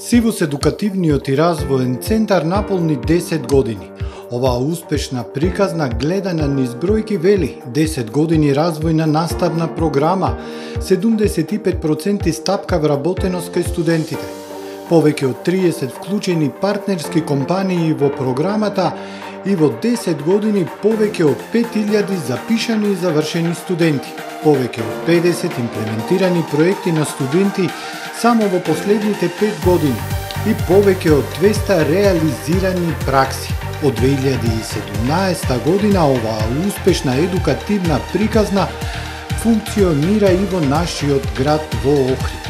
Сивус едукативниот и развоен центар наполни 10 години. Оваа успешна приказна гледана низ бројки вели 10 години развојна наставна програма, 75% стапка вработеност кај студентите. Повеќе од 30 вклучени партнерски компании во програмата и во 10 години повеќе од 5000 запишани и завршени студенти. Повеќе од 50 имплементирани проекти на студенти само во последните 5 години и повеќе од 200 реализирани пракси. Од 2017 година оваа успешна едукативна приказна функционира и во нашиот град во Охрид.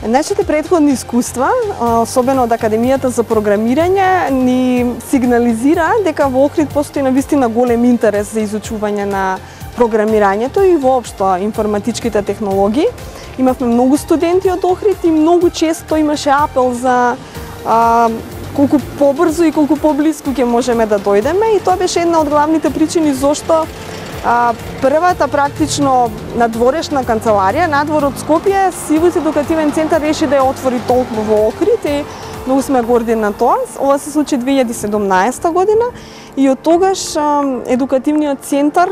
Нашите претходни искуства, особено од Академијата за програмирање, ни сигнализира дека во Охрид постои навистина голем интерес за изучување на програмирањето и воопшто информатичките технологии. Имавме многу студенти од Охрид и многу често имаше апел за колку побрзо и колку поблиску ќе можеме да дојдеме, и тоа беше една од главните причини зошто првата практично надворешна канцеларија надвор од Скопје, Сивус едукативен центар реши да ја отвори толку во Охрид и многу сме горди на тоа. Ова се случи 2017 година и од тогаш едукативниот центар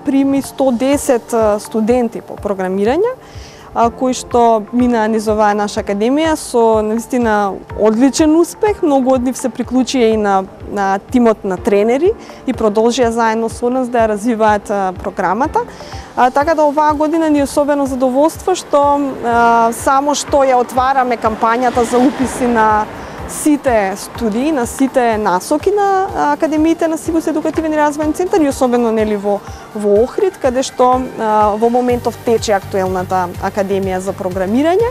прими 110 студенти по програмирање, кои што минаа низ оваа наша академија со навистина одличен успех. Многу од нив се приклучија и на тимот на тренери и продолжија заедно со нас да ја развиваат програмата. Така да оваа година ни е особено задоволство што само што ја отвараме кампањата за уписи на сите студии, на сите насоки на академиите на Сивус едукативен и развоен центар и особено нели во Охрид, каде што во моментов тече актуелната академија за програмирање.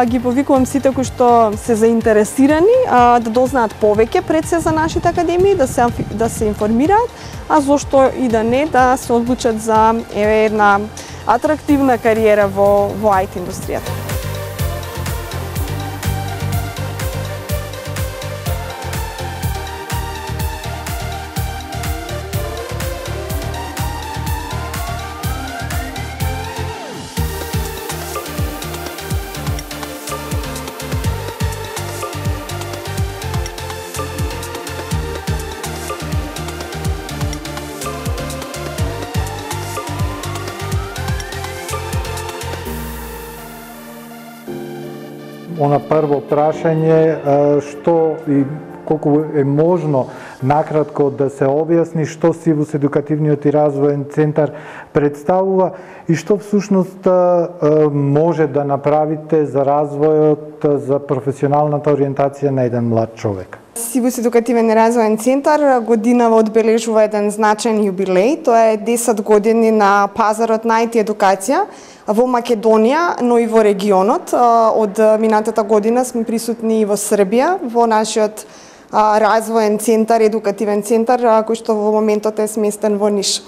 Ги повикувам сите кои што се заинтересирани да дознаат повеќе пред се за нашите академии, да се информираат, а зошто и да не да се одлучат за една атрактивна кариера во IT индустријата. Она прво прашање, што и колку е можно накратко да се објасни што Сивус едукативниот и развоен центар представува и што всушност може да направите за развојот, за професионалната ориентација на еден млад човек. Сивус едукативен и развоен центар годинава одбележува еден значаен јубилеј. Тоа е 10 години на пазарот на IT едукација во Македонија, но и во регионот. Од минатата година сме присутни и во Србија, во нашиот развоен центар, едукативен центар, кој што во моментот е сместен во Ниш.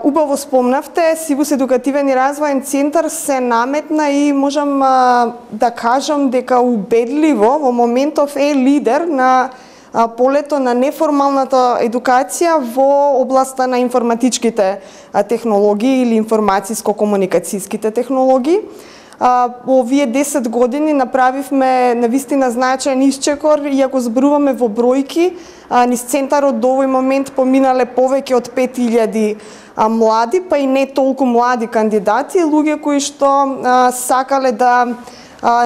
Убаво спомнавте, Сивус едукативен и развоен центар се наметна и можам да кажам дека убедливо во моментов е лидер на полето на неформалната едукација во областа на информатичките технологии или информациско-комуникацијските технологии. Овие 10 години направивме навистина значаен исчекор и ако зборуваме во бројки, низ центарот до овој момент поминале повеќе од 5000 млади, па и не толку млади кандидати, луѓе кои што сакале да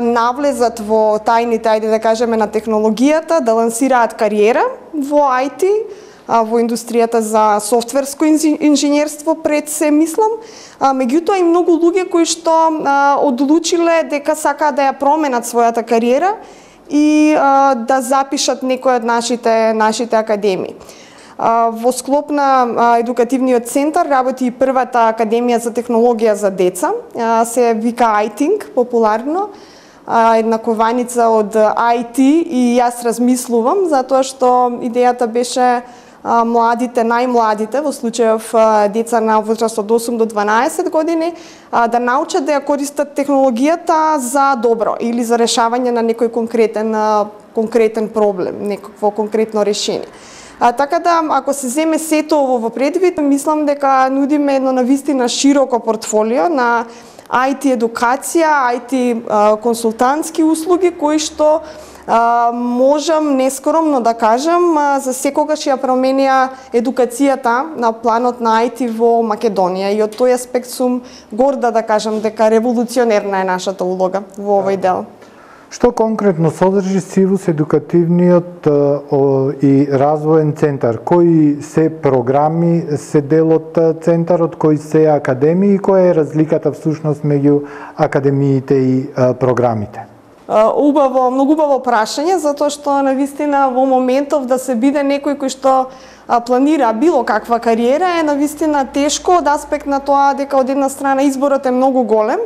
навлезат во тајните, ајде да кажеме, на технологијата, да лансираат кариера во IT, во индустријата за софтверско инженерство пред се мислам, меѓутоа и многу луѓе кои што одлучиле дека сакаат да ја променат својата кариера и да запишат некој од нашите академии. Во склоп на едукативниот центар работи и првата академија за технологија за деца, се вика iThink популарно, една кованица од IT и јас размислувам затоа што идејата беше младите, најмладите, во случајов деца на возраст од 8 до 12 години, да научат да ја користат технологијата за добро или за решавање на некој конкретен проблем, некакво конкретно решение. Така да, ако се земе сето ово во предвид, мислам дека нудиме едно навистина широко портфолио на IT едукација, IT консултантски услуги кои што можам нескромно да кажам за секогаш ја променија едукацијата на планот на IT во Македонија и од тој аспект сум горда да кажам дека револуционерна е нашата улога во овој дел. Што конкретно содржи СИВУС едукативниот и развоен центар? Кои се програми се дел од центарот, кои се академии и која е разликата всушност меѓу академиите и програмите? Многу убаво прашање, затоа што навистина во моментов да се биде некој кој што планира било каква кариера е навистина тешко од аспект на тоа дека од една страна изборот е многу голем,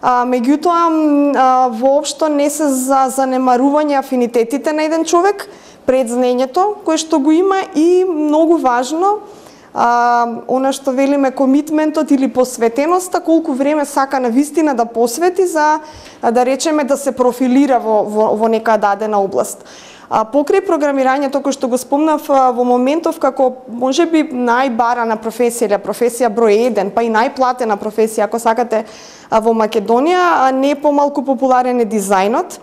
меѓутоа воопшто не се за занемарување афинитетите на еден човек пред знаењето кое што го има и многу важно она што велиме комитментот или посветеноста, колку време сака навистина да посвети за да речеме да се профилира во нека дадена област. Покрај програмирањето кој што го спомнав во моментов како можеби најбарана професија или професија број 1, па и најплатена професија ако сакате во Македонија, не помалку популарен е дизајнот.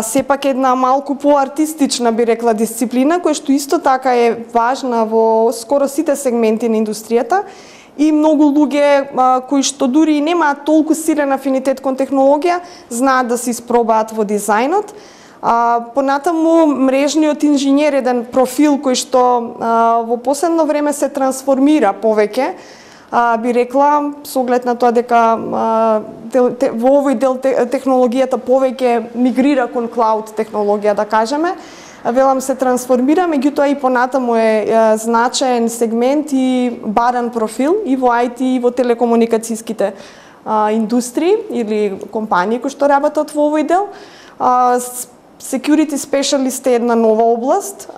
Сепак една малку поартистична би рекла дисциплина која што исто така е важна во скоро сите сегменти на индустријата и многу луѓе кои што дури и немаат толку силен афинитет кон технологија знаат да се испробаат во дизајнот. Понатаму мрежниот инженер еден профил кој што во последно време се трансформира повеќе, би рекла со оглед на тоа дека во овој дел технологијата повеќе мигрира кон клауд технологија да кажеме. Велам се трансформира, меѓутоа и понатаму е значаен сегмент и баран профил и во IT и во телекомуникацијските индустрии или компании кои што работат во овој дел. Security specialist е една нова област,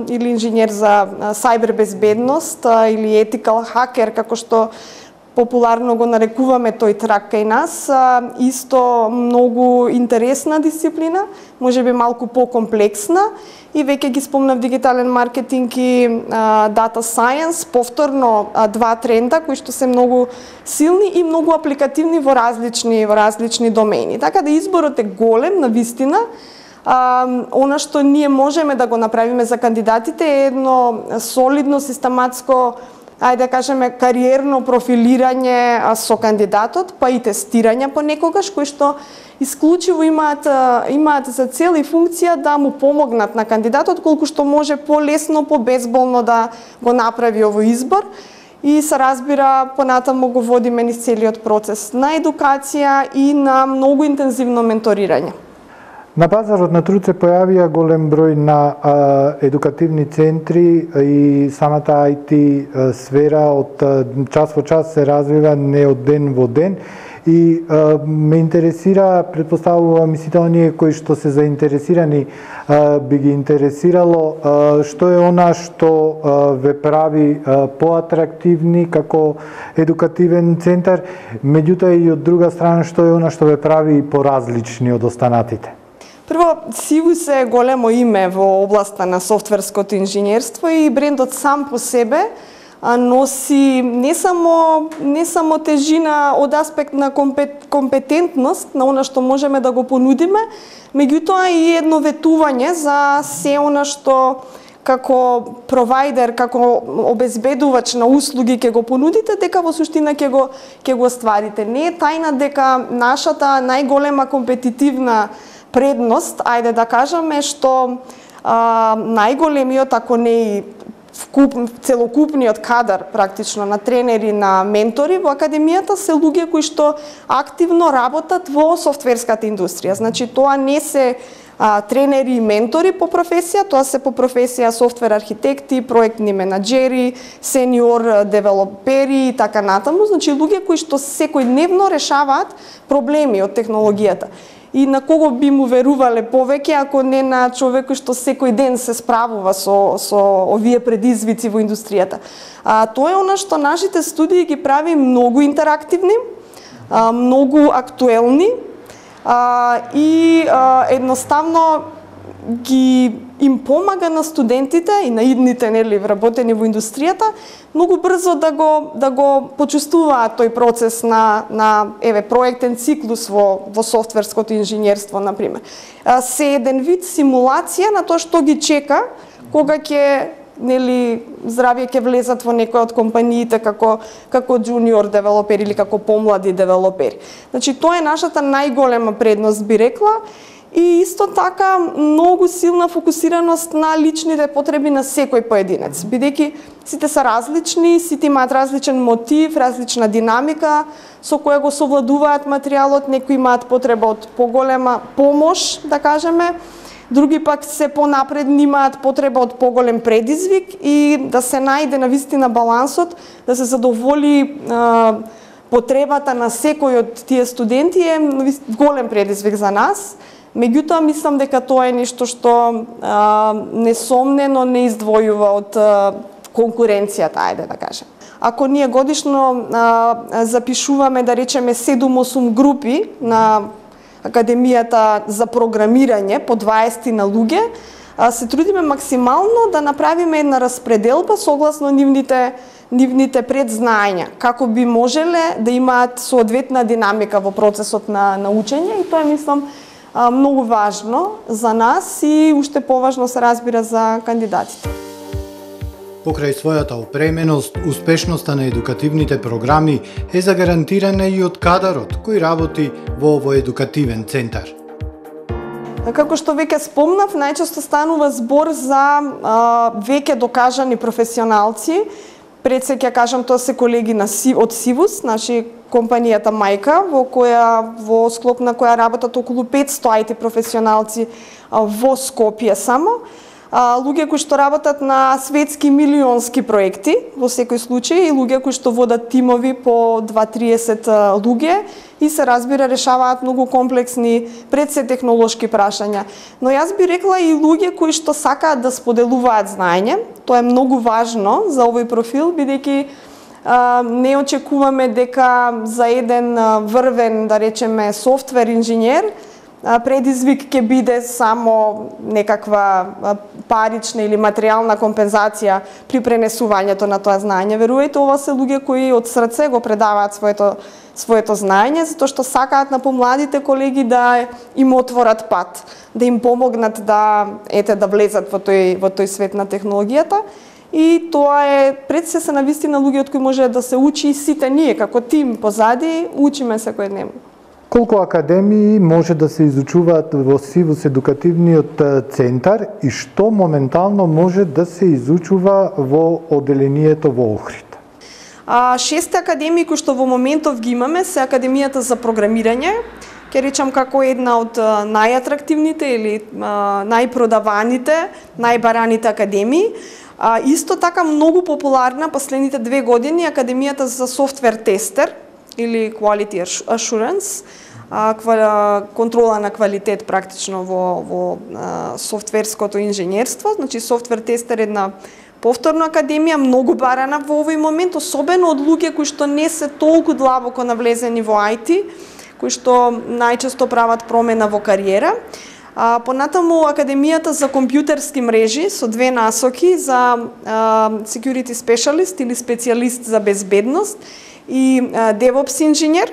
или инженер за сайбер безбедност, или ethical hacker, како што популарно го нарекуваме тој трак кај нас, исто многу интересна дисциплина, можеби малку покомплексна, и веќе ги спомнав дигитален маркетинг и data science, повторно два тренда кои што се многу силни и многу апликативни во различни домени. Така да изборот е голем навистина. Она што ние можеме да го направиме за кандидатите е едно солидно, систематско, ајде да кажеме, кариерно профилирање со кандидатот, па и тестирање понекогаш, кои што исклучиво имаат за цел и функција да му помогнат на кандидатот колку што може полесно, побезболно да го направи овој избор. И се разбира, понатаму го водиме низ целиот процес на едукација и на многу интензивно менторирање. На пазарот на труд се појавија голем број на едукативни центри и самата IT сфера од час во час се развива, не од ден во ден. И ме интересира, предпоставувам и сите оние кои што се заинтересирани би ги интересирало што е она што ве прави поатрактивни како едукативен центар, меѓутоа и од друга страна што е она што ве прави поразлични од останатите. Прво, СИВУС е големо име во областа на софтверското инженерство и брендот сам по себе носи не само тежина од аспект на компетентност на она што можеме да го понудиме, меѓутоа и едно ветување за се она што како провайдер, како обезбедувач на услуги ќе го понудите, дека во суштина ќе го остварите. Не е тајна дека нашата најголема компетитивна предност, ајде да кажеме, што најголемиот, ако не и целокупниот кадар практично на тренери, на ментори во академијата се луѓе кои што активно работат во софтверската индустрија. Значи тоа не се тренери и ментори по професија, тоа се по професија софтвер архитекти, проектни менаџери, сениор девелопери и така натаму. Значи луѓе кои што секојдневно решаваат проблеми од технологијата. И на кого би му верувале повеќе ако не на човек што секој ден се справува со овие предизвици во индустријата. Тоа е она што нашите студии ги прави многу интерактивни, многу актуелни и едноставно ги им помага на студентите и на идните вработени во индустријата многу брзо да го почувствуваат тој процес на проектен циклус во софтверското инженерство на пример. Се еден вид симулација на тоа што ги чека кога ќе здравје ќе влезат во некој од компаниите како джуниор девелопери или како помлади девелопери. Значи тоа е нашата најголема предност, би рекла. И исто така многу силна фокусираност на личните потреби на секој поединец, бидејќи сите се различни, сите имаат различен мотив, различна динамика со која го совладуваат материјалот, некои имаат потреба од поголема помош, да кажеме, други пак се понапредни имаат потреба од поголем предизвик и да се најде навистина балансот, да се задоволи потребата на секој од тие студенти е голем предизвик за нас. Меѓутоа, мислам дека тоа е нешто што несомнено не издвојува од конкуренцијата, ајде да кажем. Ако ние годишно запишуваме, да речеме, 7-8 групи на Академијата за програмирање по 20 на луѓе, се трудиме максимално да направиме една распределба согласно нивните предзнаења, како би можеле да имаат соодветна динамика во процесот на учење, и тоа е, мислам, многу важно за нас и уште поважно се разбира за кандидатите. Покрај својата опременост, успешноста на едукативните програми е загарантирана и од кадарот кој работи во овој едукативен центар. Како што веќе спомнав, најчесто станува збор за веќе докажани професионалци. Пред се ќе кажам, тоа се колеги од Сивус, значи компанијата мајка, во склоп на која работат околу 500 IT професионалци во Скопје само. Луѓе кои што работат на светски милионски проекти во секој случај и луѓе кои што водат тимови по 2-30 луѓе и се разбира решаваат многу комплексни пред се технолошки прашања. Но јас би рекла и луѓе кои што сакаат да споделуваат знаење. Тоа е многу важно за овој профил, бидејќи не очекуваме дека за еден врвен, да речеме, софтвер инженер предизвик ќе биде само некаква парична или материјална компензација при пренесувањето на тоа знаење. Верувајте, ова се луѓе кои од срце го предаваат своето знаење, затоа што сакаат на помладите колеги да им отворат пат, да им помогнат да влезат во тој свет на технологијата. И тоа е пред се навистина луѓе од кои може да се учи и сите ние како тим позади учиме секојдневно. Колку академии може да се изучуваат во Сивус едукативниот центар и што моментално може да се изучува во оделението во Охрид? 6 академии кои што во моментов ги имаме се Академијата за програмирање, ќе речам како една од најатрактивните или најпродаваните, најбараните академии. Исто така многу популарна последните 2 години Академијата за софтвер тестер или Quality Assurance, контрола на квалитет практично во софтверското инженерство. Значи софтвер тестер е една повторна академија, многу барана во овој момент, особено од луѓе кои што не се толку длабоко навлезени во IT, кои што најчесто прават промена во кариера. Понатаму Академијата за компјутерски мрежи со 2 насоки за security specialist или специјалист за безбедност и DevOps инженер.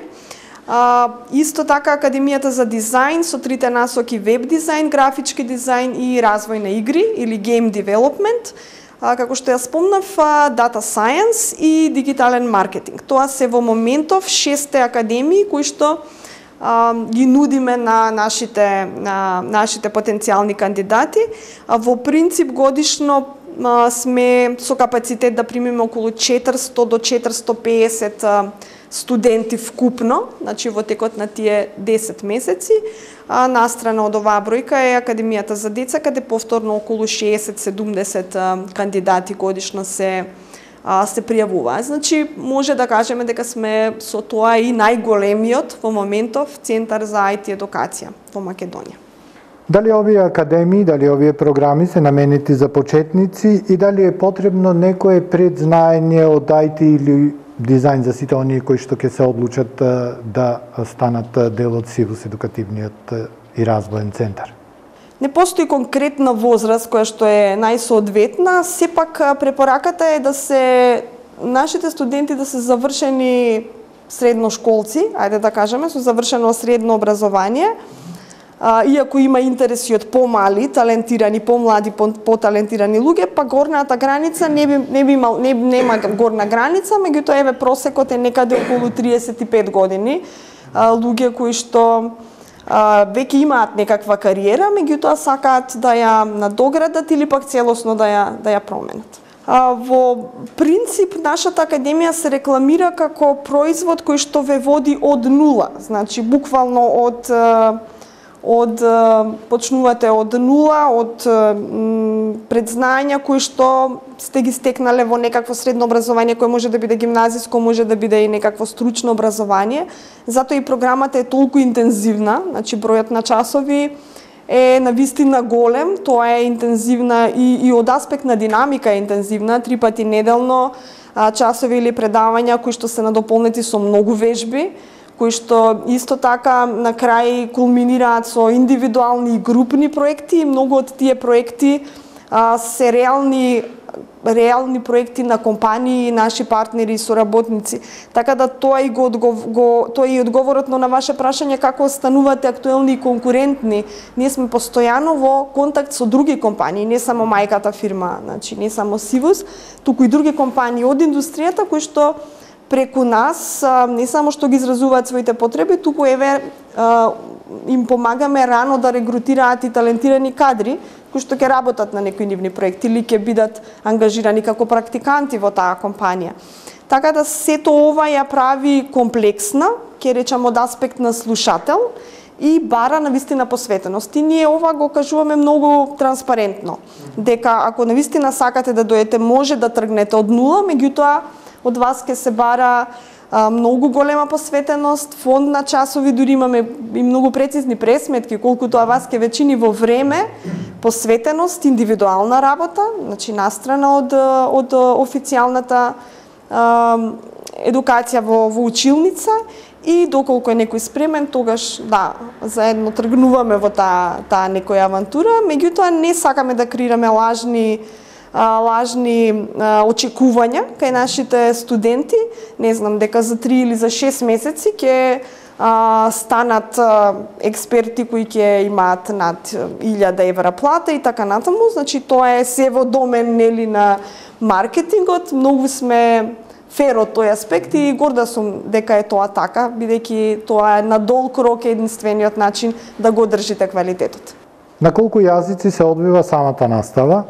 Исто така Академијата за дизајн со 3 насоки веб дизајн, графички дизајн и развој на игри или game development. Како што ја спомнав, Data Science и дигитален маркетинг. Тоа се во моментов 6 академии кои што ги нудиме на нашите потенцијални кандидати. Во принцип годишно сме со капацитет да примиме околу 400 до 450 студенти вкупно, значи во текот на тие 10 месеци. Настрана од оваа бројка е Академијата за деца, каде повторно околу 60-70 кандидати годишно се пријавуваат. Значи може да кажеме дека сме со тоа и најголемиот во моментов центар за IT едукација во Македонија. Дали овие академии, дали овие програми се наменети за почетници и дали е потребно некое предзнаење од IT или дизајн за сите оние кои што ќе се одлучат да станат дел од Сивус едукативниот и развоен центар? Не постои конкретна возраст која што е најсоодветна, сепак препораката е да се нашите студенти да се завршени средношколци, ајде да кажеме, со завршено средно образование, иако има интереси од помали, талентирани, помлади, поталентирани луѓе, па горната граница нема горна граница, меѓутоа еве просекот е некаде околу 35 години, луѓе кои што веќе имаат некаква кариера, меѓутоа сакаат да ја надоградат или пак целосно да ја променат. Во принцип, нашата академија се рекламира како производ кој што ве води од нула, значи буквално почнувате од нула, од предзнања кои што сте ги стекнале во некакво средно образование, кој може да биде гимназиско, може да биде и некакво стручно образование. Затоа и програмата е толку интензивна, значи бројот на часови е навистина голем, тоа е интензивна и од аспект на динамика е интензивна, 3 пати неделно часови или предавања кои што се надополнети со многу вежби, кои што исто така на крај кулминираат со индивидуални и групни проекти, и многу од тие проекти се реални проекти на компании, наши партнери и соработници. Така да тоа и одговорот на ваше прашање како станувате актуелни и конкурентни. Ние сме постојано во контакт со други компании, не само мајката фирма, значи не само Сивус, туку и други компании од индустријата кои што преку нас не само што ги изразуваат своите потреби, туку еве им помагаме рано да регрутираат и талентирани кадри кои што ќе работат на некои нивни проекти или ќе бидат ангажирани како практиканти во таа компанија. Така да сето ова ја прави комплексна, ќе речам од аспект на слушател и бара навистина посветеност. И ние ова го кажуваме многу транспарентно, дека ако навистина сакате да дојдете, може да тргнете од нула, меѓутоа од вас ќе се бара многу голема посветеност, фонд на часови, дури имаме и многу прецизни пресметки колку тоа вас ќе вечини во време, посветеност, индивидуална работа, значи настрана од официјалната едукација во училница, и доколку е некој спремен, тогаш да, заедно тргнуваме во таа некоја авантура, меѓутоа не сакаме да креираме лажни очекувања кај нашите студенти, не знам, дека за 3 или за 6 месеци ќе станат експерти кои ќе имаат над 1000 евра плата и така натаму, значи тоа е се во домен нели на маркетингот. Многу сме фер од тој аспект и горда сум дека е тоа така, бидејќи тоа е на долг рок единствениот начин да го држите квалитетот. На колку јазици се одвива самата настава?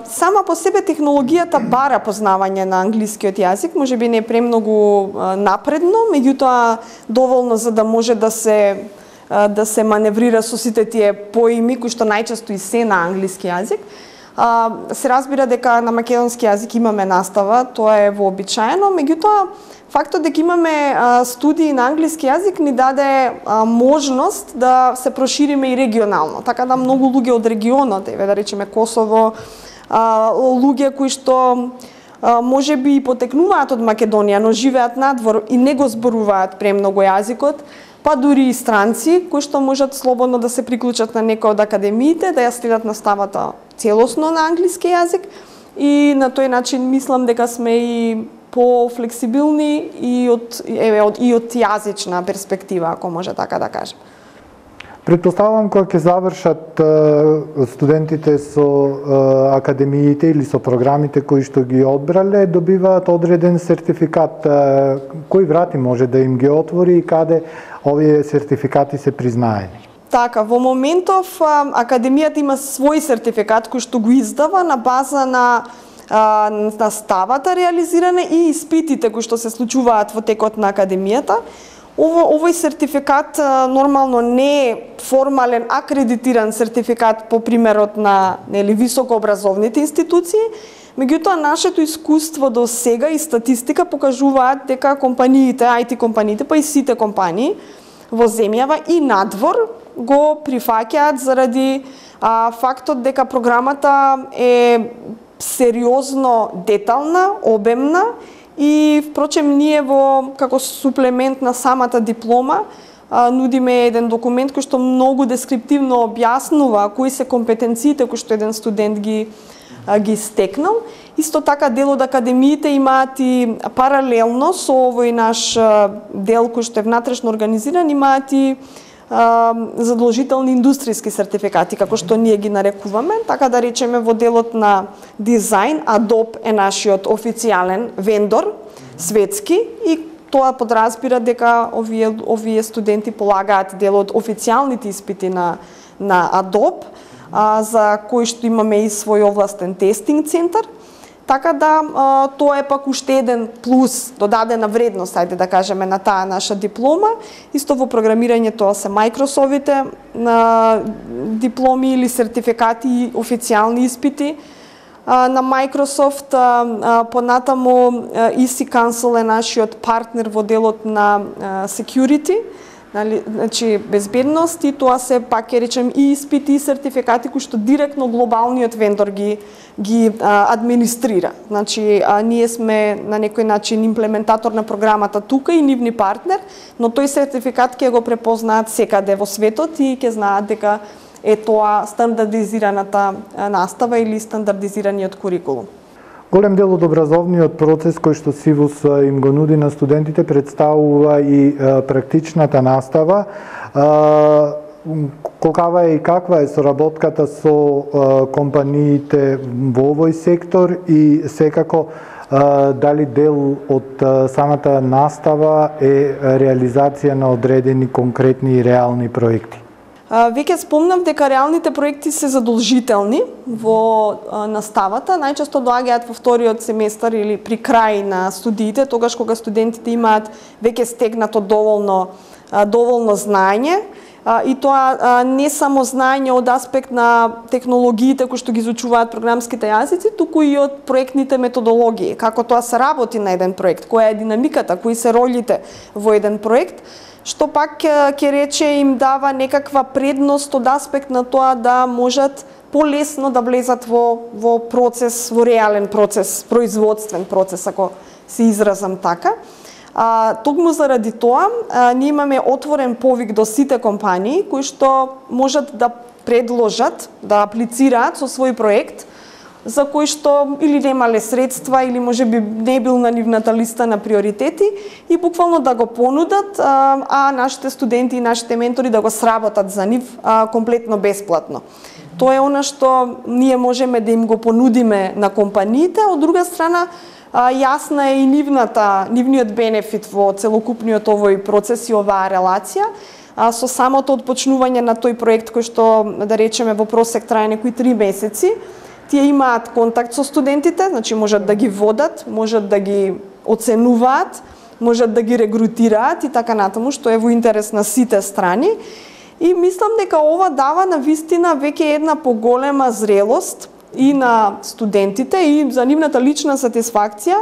Сама по себе технологијата бара познавање на англискиот јазик, можеби не премногу напредно, меѓутоа доволно за да може да се маневрира со сите тие поими кои што најчесто и се на англиски јазик. Се разбира дека на македонски јазик имаме настава, тоа е вообичаено, меѓутоа фактот дека имаме студии на англиски јазик ни даде можност да се прошириме и регионално, така да многу луѓе од регионот, еве да речеме Косово, луѓе кои што можеби и потекнуваат од Македонија, но живеат надвор и не го зборуваат премногу јазикот, па дури и странци кои што можат слободно да се приклучат на некој од академиите, да ја следат наставата целосно на англиски јазик, и на тој начин мислам дека сме и по-флексибилни и од јазична перспектива, ако може така да кажем. Претпоставувам кога ќе завршат студентите со академиите или со програмите кои што ги одбрале, добиваат одреден сертификат. Кои врати може да им ги отвори и каде овие сертификати се признаени? Така, во моментов академијата има свој сертификат кој што го издава на база на ставата реализиране и испитите кои што се случуваат во текот на академијата. Овој сертификат нормално не е формален акредитиран сертификат по примерот на високообразовните институции, меѓутоа нашето искуство до сега и статистика покажуваат дека компаниите, IT компаниите, па и сите компании во земјава и надвор го прифаќаат заради фактот дека програмата е сериозно детална, обемна и впрочем ние како суплемент на самата диплома нудиме еден документ кој што многу дескриптивно објаснува кои се компетенциите кои што еден студент ги стекнал. Исто така дел од академиите имаат и паралелно со овој наш дел кој што е внатрешно организиран, имаат и задолжителни индустријски сертификати, како што ние ги нарекуваме, така да речеме во делот на дизајн, Adobe е нашиот официјален вендор, светски, и тоа подразбира дека овие студенти полагаат дел од официјалните испити на Adobe, за кои што имаме и свој овластен тестинг центар. Така да тоа е пак уште еден плюс, додадена вредност, ајде да кажеме, на таа наша диплома. Исто во програмирање тоа се Microsoft-ите дипломи или сертификати и официјални испити на Microsoft. Понатаму EC Council е нашиот партнер во делот на security, значи безбедност, и тоа се пак ќе речем и испити и сертификати кои што директно глобалниот вендор ги администрира. Значи ние сме на некој начин имплементатор на програмата тука и нивни партнер, но тој сертификат ќе го препознаат секаде во светот и ќе знаат дека е тоа стандардизираната настава или стандардизираниот курикулум. Голем дел од образовниот процес кој што СИВУС им го нуди на студентите представува и практичната настава. Колкава е и каква е соработката со компаниите во овој сектор и секако дали дел од самата настава е реализација на одредени конкретни и реални проекти? Веќе спомнав дека реалните проекти се задолжителни во наставата, најчесто доаѓаат во вториот семестар или при крај на студиите, тогаш кога студентите имаат веќе стегнато доволно знаење, и тоа не само знаење од аспект на технологиите кои што ги изучуваат програмските јазици, туку и од проектните методологии, како тоа се работи на еден проект, која е динамиката, кои се ролите во еден проект, што пак ќе рече им дава некаква предност од аспект на тоа да можат полесно да влезат во процес, во реален процес, производствен процес, ако се изразам така. Токму заради тоа, ние имаме отворен повик до сите компании кои што можат да предложат, да аплицираат со свој проект, за кој што или немале средства, или можеби не бил на нивната листа на приоритети, и буквално да го понудат, а нашите студенти и нашите ментори да го сработат за нив комплетно бесплатно. Тоа е она што ние можеме да им го понудиме на компаниите, од друга страна јасна е и нивниот бенефит во целокупниот овој процес и оваа релација. Со самото отпочнување на тој проект кој што, да речеме, во просек трае некои 3 месеци, тие имаат контакт со студентите, значи можат да ги водат, можат да ги оценуваат, можат да ги регрутираат и така натаму, што е во интерес на сите страни. И мислам дека ова дава на вистина веќе една поголема зрелост и на студентите и за нивната лична сатисфакција,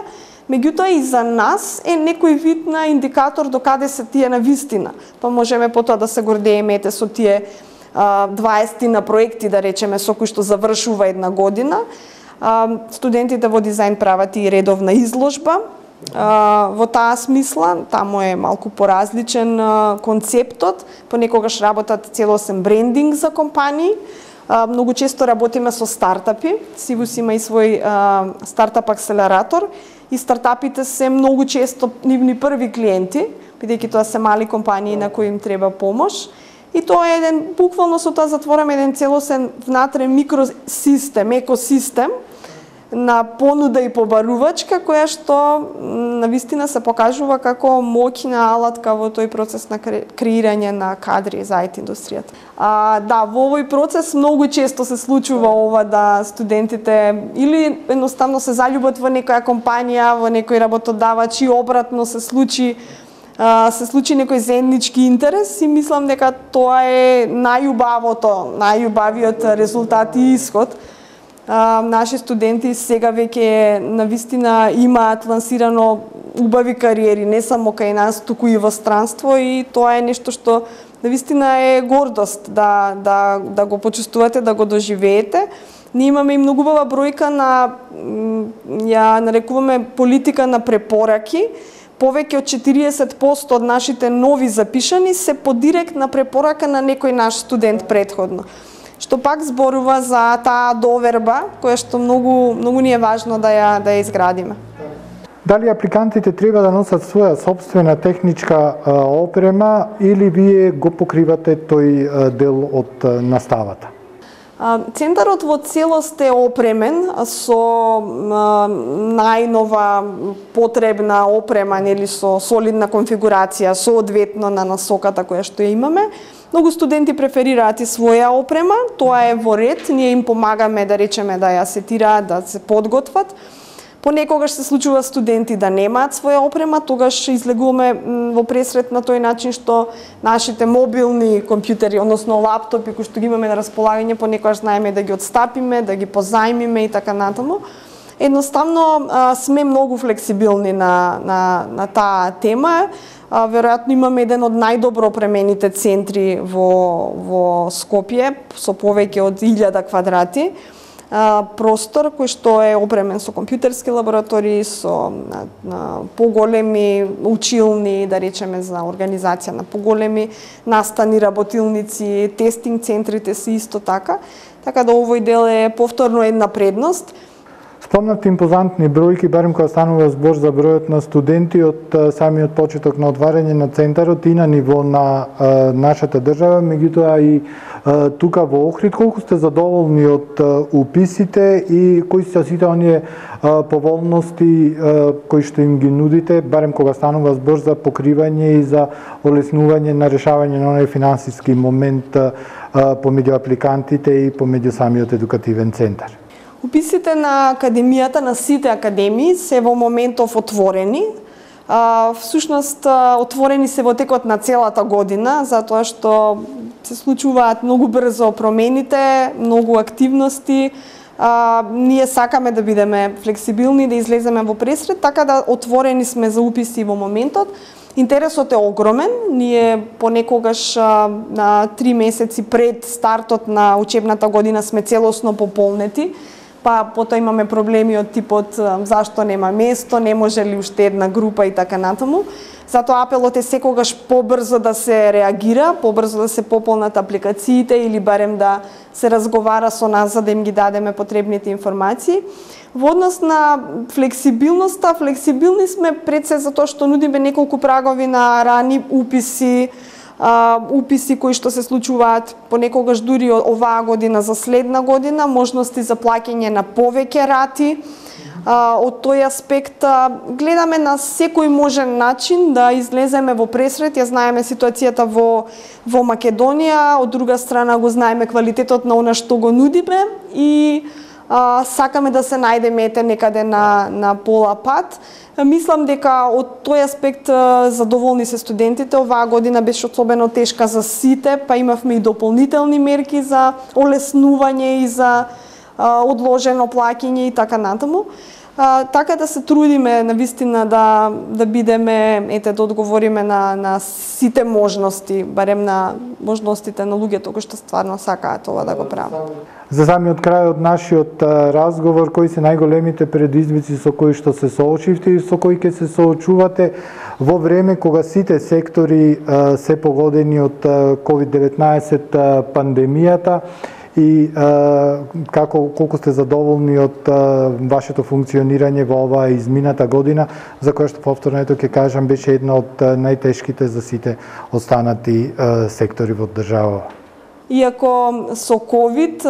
меѓутоа и за нас е некој вид на индикатор до каде се тие на вистина. Па можеме потоа да се гордееме со тие 20 на проекти, да речеме, со кои што завршува една година. Студентите во дизајн прават и редовна изложба. Во таа смисла, таму е малку поразличен концептот, понекогаш работат целосен брендинг за компании. Многу често работиме со стартапи. СИВУС има и свој стартап акселератор и стартапите се многу често нивни први клиенти, бидејќи тоа се мали компании на кои им треба помош. И тоа е буквално со тоа затвораме еден целосен внатре микросистем, екосистем на понуда и побарувачка, која што навистина се покажува како моќна алатка во тој процес на креирање на кадри за IT индустријата. Да, во овој процес многу често се случува ова да студентите или едноставно се заљубат во некоја компанија, во некој работодавач и обратно се случи некој заеднички интерес и мислам дека тоа е најубавиот резултат и исход. Наши студенти сега веќе навистина имаат лансирано убави кариери, не само кај нас, туку и во странство, и тоа е нешто што навистина е гордост да го почувствувате, да го доживеете. Ние имаме и многу убава бројка на, ја нарекуваме политика на препораки. повеќе од 40% од нашите нови запишани се по директна препорака на некој наш студент претходно. Што пак зборува за таа доверба, која што многу ни е важно да ја изградиме. Дали апликантите треба да носат своја собствена техничка опрема или вие го покривате тој дел од наставата? Центарот во целост е опремен со најнова потребна опрема, нели, со солидна конфигурација, соодветно на насоката која што ја имаме. Многу студенти преферираат и своја опрема, тоа е во ред, ние им помагаме, да речеме, да ја сетираат, да се подготват. Понекогаш се случува студенти да немаат своја опрема, тогаш излегуваме во пресрет на тој начин што нашите мобилни компјутери, односно лаптопи кои што ги имаме на располагање, понекогаш знаеме да ги отстапиме, да ги позајмиме и така натаму. Едноставно сме многу флексибилни на таа тема. Веројатно имаме еден од најдобро опремените центри во Скопје со повеќе од 1000 квадрати простор кој што е опремен со компјутерски лаборатории, со поголеми училни, да речеме, за организација на поголеми настани работилници, тестинг центрите се исто така. Така да овој дел е повторно една предност. Спомнавте импозантни бројки, барем кога станува збор за бројот на студенти од самиот почеток на отварање на центарот и на ниво на нашата држава, меѓутоа и тука во Охрид. Колку сте задоволни од уписите и кои се сите оние поволности кои што им ги нудите, барем кога станува збор за покривање и за олеснување на решавање на оној финансиски момент помеѓу апликантите и помеѓу самиот едукативен центар? Уписите на академијата, на сите академии, се во моментов отворени. Всушност, отворени се во текот на целата година, затоа што се случуваат многу брзо промените, многу активности. Ние сакаме да бидеме флексибилни, да излеземе во пресрет, така да отворени сме за уписи во моментот. Интересот е огромен. Ние понекогаш на 3 месеци пред стартот на учебната година сме целосно пополнети. Па потоа имаме проблеми од типот зашто нема место, не може ли уште една група и така натаму. Затоа апелот е секогаш побрзо да се реагира, побрзо да се пополнат апликациите или барем да се разговара со нас за да им ги дадеме потребните информации. Во однос на флексибилноста, флексибилни сме пред се затоа што нудиме неколку прагови на рани уписи, уписи кои што се случуваат понекогаш дури оваа година за следна година, можности за плаќање на повеќе рати. Од тој аспект гледаме на секој можен начин да излеземе во пресрет. Ја знаеме ситуацијата во Македонија, од друга страна го знаеме квалитетот на она што го нудиме и сакаме да се најдеме некаде на пола пат. Мислам дека од тој аспект задоволни се студентите. Оваа година беше особено тешка за сите, па имавме и дополнителни мерки за олеснување и за одложено плаќање и така натаму. Така да се трудиме навистина да бидеме, да одговориме на сите можности, барем на можностите на луѓето кои што стварно сакаат ова да го прават. За самиот крај од нашиот разговор, кои се најголемите предизвици со кои што се соочивте и со кои ќе се соочувате во време кога сите сектори се погодени од COVID-19 пандемијата и колку сте задоволни од вашето функционирање во оваа измината година, за која што повторно ќе кажам беше една од најтешките за сите останати сектори во држава. Иако со COVID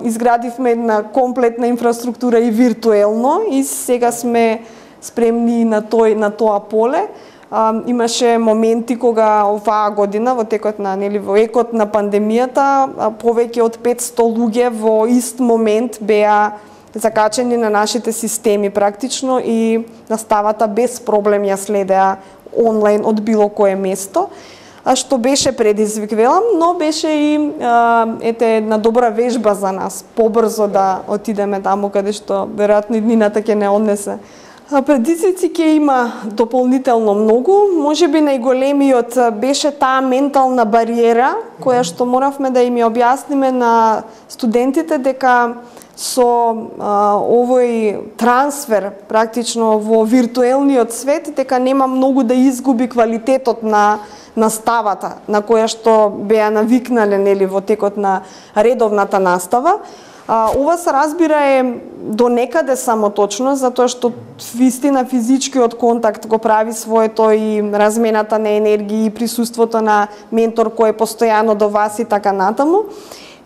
изградивме една комплетна инфраструктура и виртуелно и сега сме спремни на тоа поле. Имаше моменти кога оваа година во текот на во екот на пандемијата повеќе од 500 луѓе во ист момент беа закачени на нашите системи практично и наставата без проблем ја следеа онлайн од било кое место. Што беше предизвик, велам, но беше и една добра вежба за нас, побрзо да отидеме таму каде што веројатно иднината ќе не однесе. Предизвици ќе има дополнително многу, можеби најголемиот беше таа ментална бариера која што моравме да им ја објасниме на студентите дека со овој трансфер практично во виртуелниот свет, дека нема многу да изгуби квалитетот на наставата на која што беа навикнале, нели, во текот на редовната настава. Ова се разбира е до некаде само точно, затоа што вистина физичкиот контакт го прави своето и размената на енергија и присуството на ментор кој е постојано до вас и така натаму.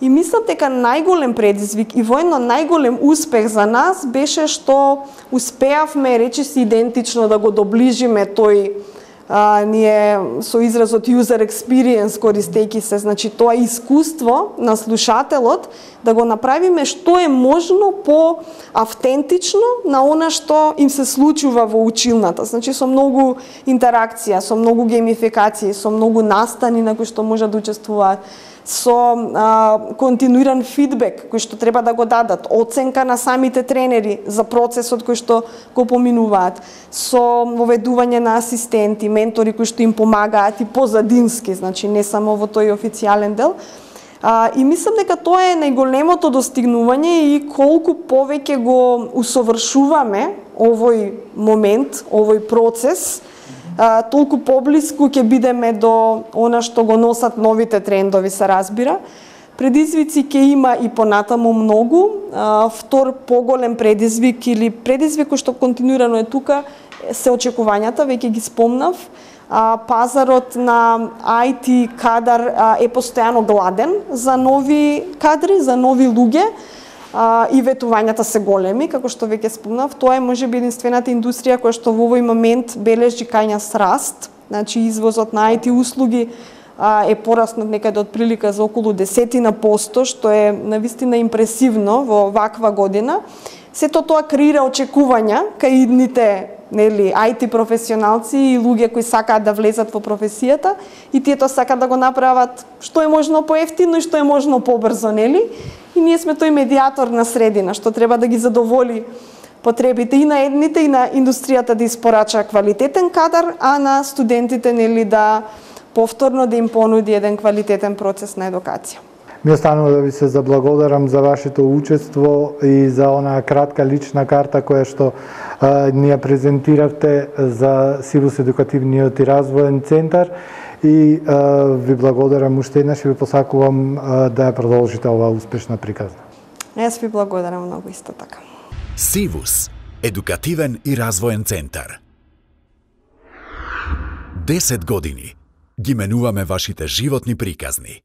И мислам дека најголем предизвик и воедно најголем успех за нас беше што успеавме речиси идентично да го доближиме тој ние со изразот user experience користејќи се, значи тоа искуство на слушателот да го направиме што е можно по автентично на она што им се случува во училната. Значи со многу интеракција, со многу геймификации, со многу настани на кои што може да учествуваат, со континуиран фидбек кој што треба да го дадат, оценка на самите тренери за процесот кој што го поминуваат, со воведување на асистенти, ментори кои што им помагаат и позадински, значи не само во тој официјален дел. И мислам дека тоа е најголемото достигнување и колку повеќе го усовршуваме овој момент, овој процес, толку поблиску ќе бидеме до она што го носат новите трендови, се разбира. Предизвици ќе има и понатаму многу. Втор поголем предизвик или предизвик кој што континуирано е тука се очекувањата, веќе ги спомнав. Пазарот на IT кадар е постојано гладен за нови кадри, за нови луѓе. И ветувањата се големи, како што веќе спомнав. Тоа е можеби единствената индустрија која што во овој момент бележи кањас раст. Значи извозот на IT услуги е пораснат некаде од прилика за околу 10%, што е навистина импресивно во ваква година. Сето тоа креира очекувања кај идните, нели, IT професионалци и луѓе кои сакаат да влезат во професијата и тие тоа сакаат да го направат што е можно поевтино и што е можно побрзо, нели? И ние сме тој медиатор на средина што треба да ги задоволи потребите и на едните и на индустријата да испорача квалитетен кадар, а на студентите, нели, да повторно да им понуди еден квалитетен процес на едукација. Ми останува да ви се заблагодарам за вашето учество и за онаа кратка лична карта која што ни ја презентиравте за Сивус едукативниот и развоен центар и ви благодарам уште еднаш и ви посакувам да ја продолжите оваа успешна приказна. Јас ви благодарам многу исто така. Сивус едукативен и развоен центар. 10 години ги менуваме вашите животни приказни.